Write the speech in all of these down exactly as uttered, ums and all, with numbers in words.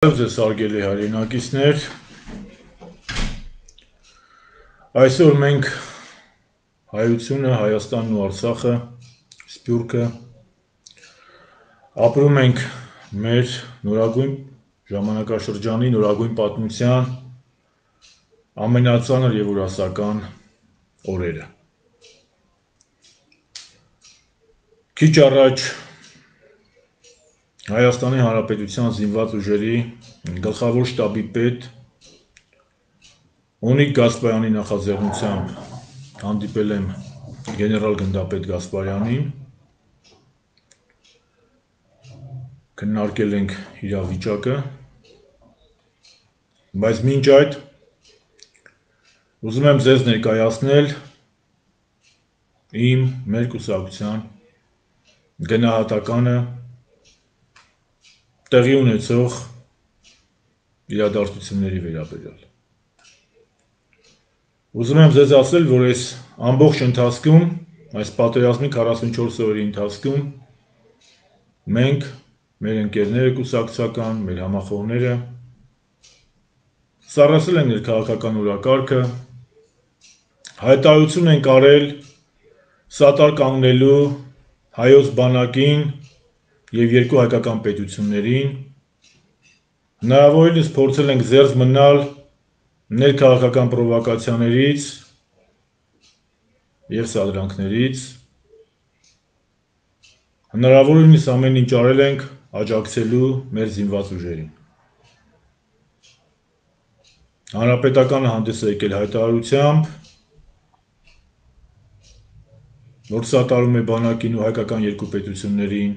Ձեզ արգելի հայրենակիցներ, այսօր մենք հայությունը, Հայաստանն ու Արցախը, Սփյուռքը ապրում ենք մեր նորագույն ժամանակաշրջանի, նորագույն պատմության ամենածանր և ուրասական օրերը։ Քիչ առաջ Հայաստանի Հանրապետության զինված ուժերի գլխավոր շտաբի պետ Օնիկ Գասպարյանի նախաձեռնությամբ հանդիպել եմ գեներալ գնդապետ Գասպարյանին, քննարկել ենք իրավիճակը, բայց մինչ այդ ուզում եմ ձեզ ներկայացնել իմ մեր կուսակցության գնահատականը տեղի ունեցող իրադարձությունների վերաբերյալ։ Ուզում եմ ձեզ ասել, որ այս ամբողջ ընթացքում, այս պատերազմի քառասունչորս օրերի ընթացքում մենք, մեր ընկերները կուսակցական, մեր համախոհները սառեցել ենք ներքաղաքական օրակարգը, հայտարարություն ենք արել սատար կանգնելու հայոց բանակին և երկու հայկական պետություններին, հնարավորինս փորձել ենք զերծ մնալ ներքաղաքական պրովոկացիաներից և սադրանքներից, հնարավորինս ամեն ինչ արել ենք աջակցելու մեր զինված ուժերին։ Հանրապետականը հանդես է եկել հայտարարությամբ, որ սատարում է բանակին ու հայկական երկու պետություններին,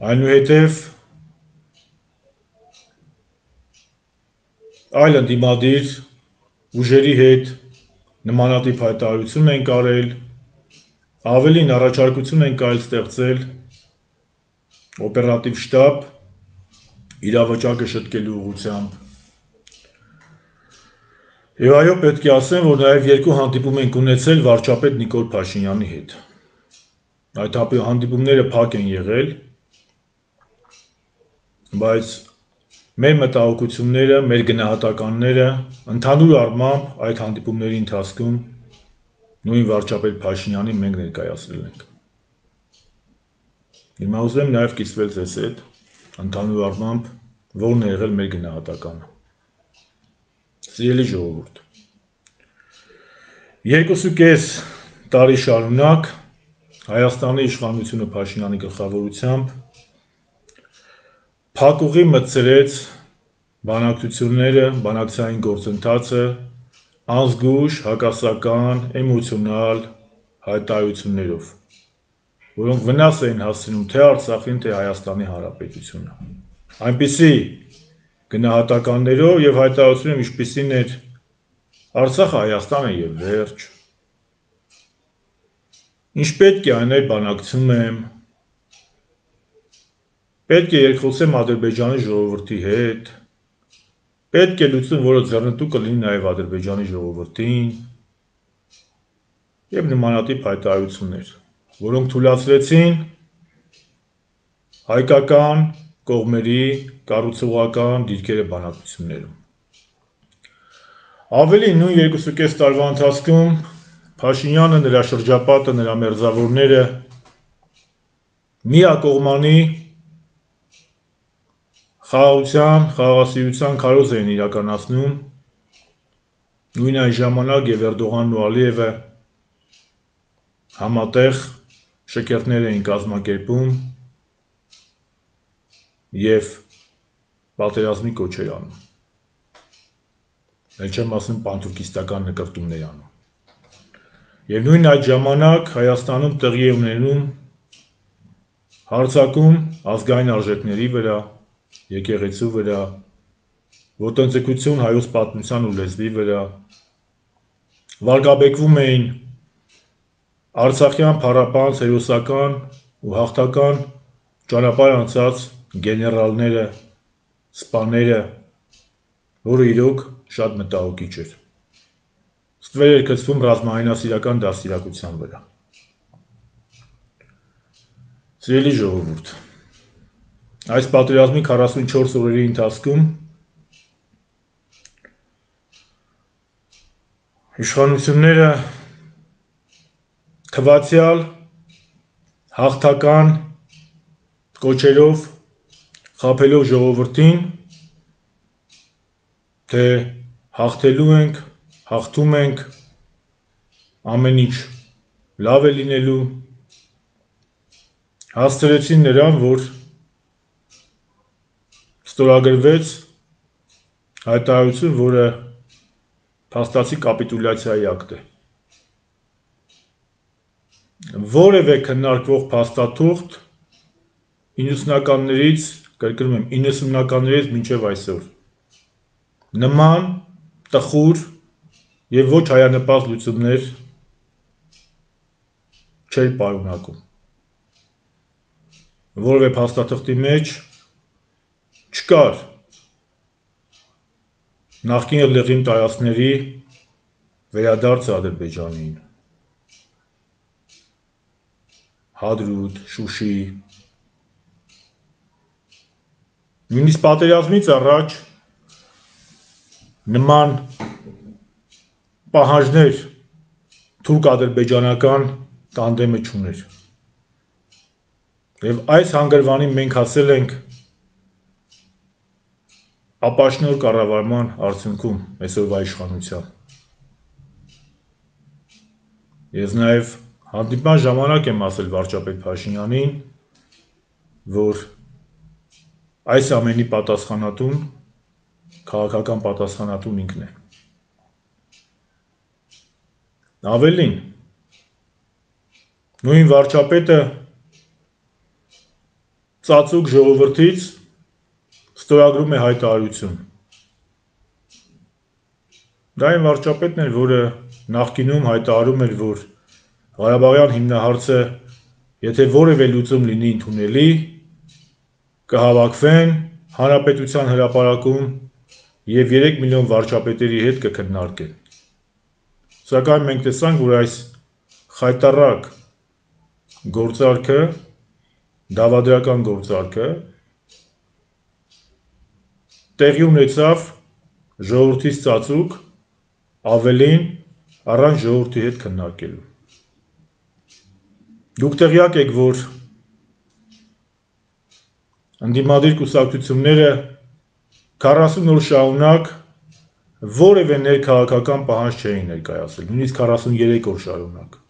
այնուհետև այլ ընդդիմադիր ուժերի հետ նմանատիպ հայտարարություն ենք արել, ավելին առաջարկություն ենք այլ ստեղծել օպերատիվ շտաբ իրավիճակը շտկելու ուղղությամբ։ Եվ այո, պետք է ասեմ, որ նաև երկու հանդիպում ենք ունեցել վարչապետ Նիկոլ Փաշինյանի հետ։ Այդ հանդիպումները փակ են եղել, բայց մեր մտահոգությունները, մեր գնահատականները ընդհանուր առմամբ այդ հանդիպումների ընթացքում նույն վարչապետ Փաշինյանին մենք ներկայացրել ենք։ Հիմա ուզում եմ նաև կիսվել ձեզ հետ ընդհանուր առմամբ որն է եղել մեր գնահատականը։ Սիրելի ժողովուրդ, երկուսուկես տարի շարունակ Հայաստանի իշխանությունը Փաշինյանի գլխավորությամբ փակուղի մտցրեց բանակցությունները, բանակցային գործընթացը անզգույշ, հակասական, էմոցիոնալ հայտարարություններով, որոնք վնաս էին հասցնում թե Արցախին, թե Հայաստանի Հանրապետությունը։ Այնպիսի գնահատականներով և հայտարարություններով, ինչպիսին էր Արցախը Հայաստանը և վերջ, ինչ պետք է անել բանակցում եմ, պետք է երկխոսեմ Ադրբեջանի ժողովրդի հետ, պետք է լուծում, որը ձեռնտու կլինի նաև Ադրբեջանի ժողովրդին և նմանատիպ հայտարարություններ, որոնք թուլացրեցին հայկական կողմերի կառուցողական դիրքերը բանակցություններում։ Ավելին, նույն երկուսուկես տարվա ընթացքում Փաշինյանը, նրա շրջապատը, նրա մերձավորները միակողմանի խաղաղության, խաղաղասիրության քարոզ էին իրականացնում, նույն այն ժամանակ և Էրդողանն ու Ալիևը համատեղ շքերթներ էին կազմակերպում և պատերազմի կոչեր անում, էլ չեմ ասում պանթուրքիստական նկրտումներ անում։ Եվ նույն այդ ժամանակ Հայաստանում տեղի է ունենում հարձակում ազգային արժեքների վրա, եկեղեցու վրա, ոտնձգություն հայոց պատմության ու լեզվի վրա, վարկաբեկվում էին արցախյան փառապանծ հերոսական ու հաղթական ճանապարհ անցած գեներալները, սպաները, որը իրոք շատ մտահոգիչ էր։ Ստվեր էր գցվում ռազմահայնասիրական դաստիարակության վրա։ Սիրելի ժողովուրդ, այս պատերազմի քառասունչորս օրերի ընթացքում իշխանությունները թվացյալ հաղթական կոչերով խաբելով ժողովրդին, թե հաղթելու ենք, հաղթում ենք, ամեն ինչ լավ է լինելու, հասցրեցին նրան, որ ստորագրվեց հայտարարություն, որը փաստացի կապիտուլյացիայի ակտ է։ Որևէ քննարկվող փաստաթուղթ իննսունականներից, կրկնում եմ, իննսունականներից մինչև այսօր նման տխուր եւ ոչ հայանպաստ լուծումներ չէր պարունակում։ Որևէ փաստաթղթի մեջ չկար նախկին լեգիմ տարածքների վերադարձը Ադրբեջանին, Հադրութ, Շուշի, նույնիսկ պատերազմից առաջ նման պահանջներ թուրք-ադրբեջանական տանդեմը չուներ։ Եվ այս հանգրվանին մենք հասել ենք ապաշնոր կառավարման արդյունքում այսօրվա իշխանության։ Ես նաև հանդիպման ժամանակ եմ ասել վարչապետ Փաշինյանին, որ այս ամենի պատասխանատուն, քաղաքական պատասխանատուն ինքն է։ Ավելին, նույն վարչապետը ծածուկ ժողովրդից ստորագրում է հայտարարություն։ Դա այն վարչապետն էր, որը նախկինում հայտարարում էր, որ Ղարաբաղյան հիմնահարցը, եթե որևէ լուծում լինի ընդունելի, կհավաքվեն հանրապետության հրապարակում եւ երեք միլիոն վարչապետերի հետ կքննարկեն։ Սակայն մենք տեսանք, որ այս խայտառակ գործարքը, դավադրական գործարքը տեղի ունեցավ ժողովրդից ծածուկ, ավելին առանց ժողովրդի հետ քննարկելու։ Դուք տեղյակ եք, որ ընդդիմադիր կուսակցությունները քառասուն օր շարունակ որևէ ներքաղաքական պահանջ չէին ներկայացրել, նույնիսկ քառասուներեք օր շարունակ։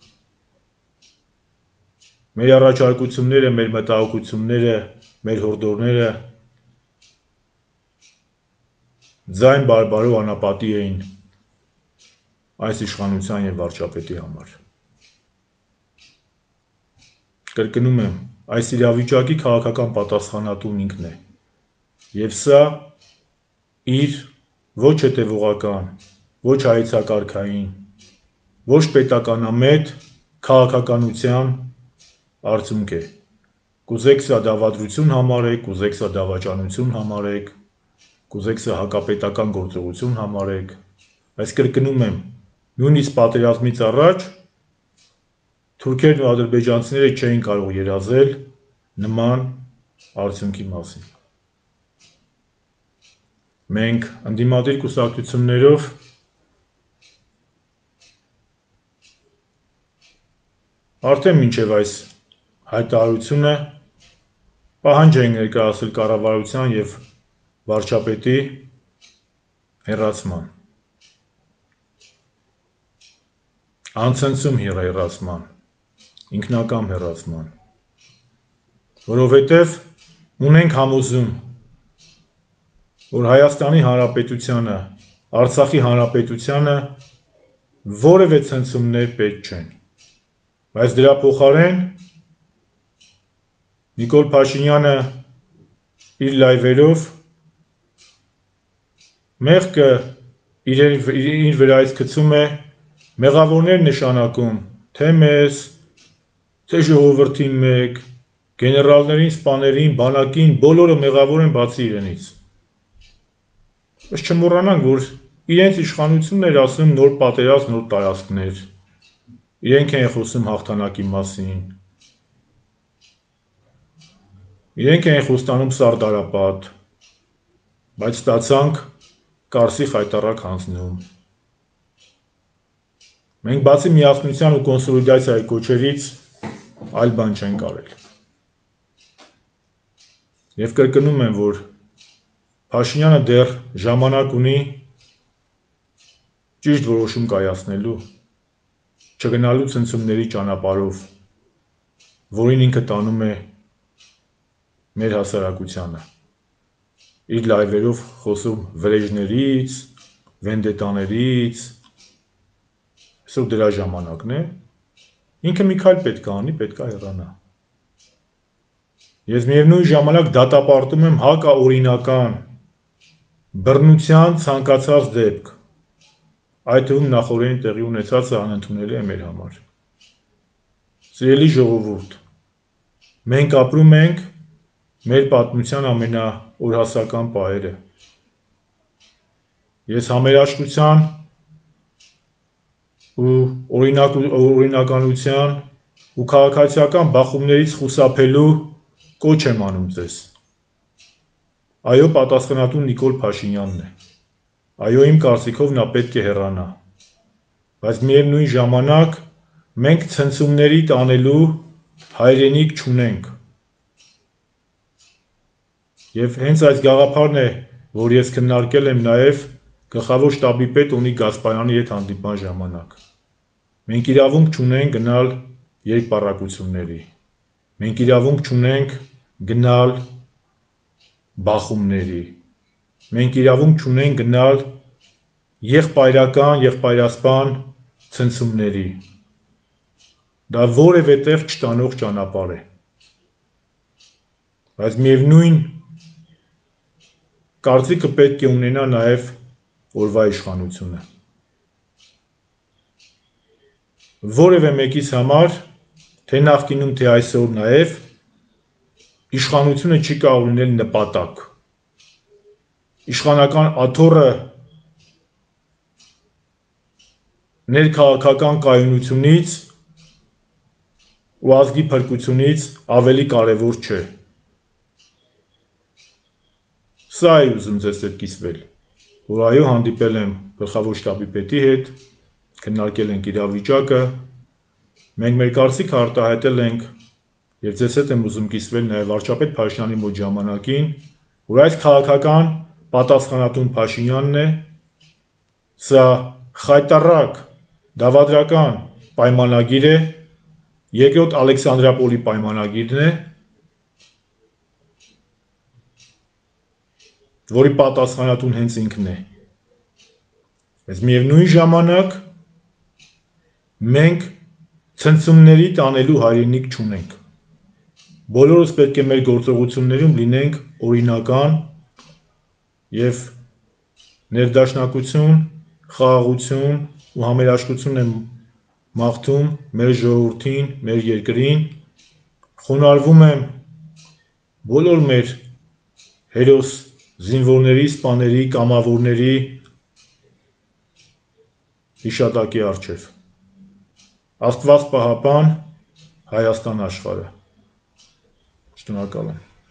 Մեր առաջարկությունները, մեր մտահոգությունները, մեր հորդորները ձայն բարբարով անապատի էին այս իշխանության եւ վարչապետի համար։ Կրկնում եմ, այս իրավիճակի քաղաքական պատասխանատուն ինքն է։ Եվ սա իր ոչ հետևողական, ոչ հայեցակարգային, ոչ պետականամետ քաղաքականության արդյունք է։ Կուզեք սա դավադրություն համարեք, կուզեք սա դավաճանություն համարեք, կուզեք սա հակապետական գործողություն համարեք, բայց կրկնում եմ, նույնիսկ պատերազմից առաջ թուրքերն ու ադրբեջանցիները չէին կարող երազել նման արդյունքի մասին։ Մենք ընդդիմադիր կուսակցություններով արդեն մինչև այս հայտարարությունը պահանջ ենք ներկայացրել կառավարության եւ վարչապետի հեռացման, անցնցում հեռացման, ինքնակամ հեռացման, որովհետև ունենք համոզում, որ Հայաստանի Հանրապետությանը, Արցախի Հանրապետությանը որևէ ցնցումներ պետք չեն, բայց դրա փոխարեն Նիկոլ Փաշինյանը իր լայվերով մեղքը իր վրայից գցում է, մեղավորներ նշանակում, թե մեզ, թե ժողովրդին մեկ, գեներալներին, սպաներին, բանակին, բոլորը մեղավոր են բացի իրենից։ Բայց չմոռանանք, որ իրենց իշխանությունն էր ասում նոր պատերազմ, նոր տարածքներ, իրենք են խոսում հաղթանակի մասին։ իրենք էին խոստանում Սարդարապատ, բայց ստացանք Կարսի խայտառակ հանձնում։ Մենք բացի միասնության ու կոնսոլիդացիայի կոչերից այլ բան չենք արել։ Եվ կրկնում եմ, որ Փաշինյանը դեռ ժամանակ ունի ճիշտ որոշում կայացնելու, չգնալու ցնցումների ճանապարհով, որին ինքը տանում է մեր հասարակությանը, իր լայվերով խոսում վրեժներից, վենդետաներից, այսօր դրա ժամանակն է, ինքը մի քայլ պետք է անի, պետք է հեռանա։ Ես միևնույն ժամանակ դատապարտում եմ հակաօրինական բռնության ցանկացած դեպք, այդ թվում նախօրեին տեղի ունեցածը անընդունելի է մեր համար։ Սիրելի ժողովուրդ, մենք ապրում ենք մեր պատմության ամենաօրհասական պահերը։ Ես համերաշխության ու օրինականության ու քաղաքացիական բախումներից խուսափելու կոչ եմ անում ձեզ։ Այո, պատասխանատուն Նիկոլ Փաշինյանն է։ Այո, իմ կարծիքով նա պետք է հեռանա, բայց միևնույն ժամանակ մենք ցնցումների տանելու հայրենիք չունենք։ Եվ հենց այս գաղափարն է, որ ես քննարկել եմ նաև գլխավոր շտաբի պետ Օնիկ Գասպարյանի հետ հանդիպման ժամանակ։ Մենք իրավունք չունենք գնալ երկպառակությունների, մենք իրավունք չունենք գնալ բախումների, մենք իրավունք չունենք գնալ եղբայրական, եղբայրասպան ցնցումների, դա որևէ տեղ չտանող ճանապարհ է, բայց միևնույն կարծիքը պետք է ունենա նաև օրվա իշխանությունը։ Որևէ մեկիս համար, թե նախկինում, թե այսօր նաև, իշխանությունը չի կարող լինել նպատակ։ Իշխանական աթոռը ներքաղաքական կայունությունից ու ազգի փրկությունից ավելի կարևոր չէ։ Սա է ուզում ձեզ հետ կիսվել, որ այո, հանդիպել եմ գլխավոր շտաբի պետի հետ, քննարկել ենք իրավիճակը, մենք մեր կարծիքը արտահայտել ենք եւ ձեզ հետ եմ ուզում կիսվել նաեւ վարչապետ Փաշինյանի մոտ ժամանակին, որ այս քաղաքական պատասխանատուն Փաշինյանն է, սա խայտառակ դավադրական պայմանագիր է, երկրորդ Ալեքսանդրապոլի պայմանագիրն է, որի պատասխանատուն հենց ինքն է։ Բայց միևնույն ժամանակ մենք ցնցումների տանելու հայրենիք չունենք։ Բոլորս պետք է մեր գործողություններում լինենք օրինական եւ ներդաշնակություն, խաղաղություն ու համերաշխություն եմ մաղթում մեր ժողովրդին, մեր երկրին, խոնարհվում եմ բոլոր մեր հերոս զինվորների, սպաների, կամավորների հիշատակի առջև։ Աստված պահապան Հայաստան աշխարհը։ Շնորհակալ եմ։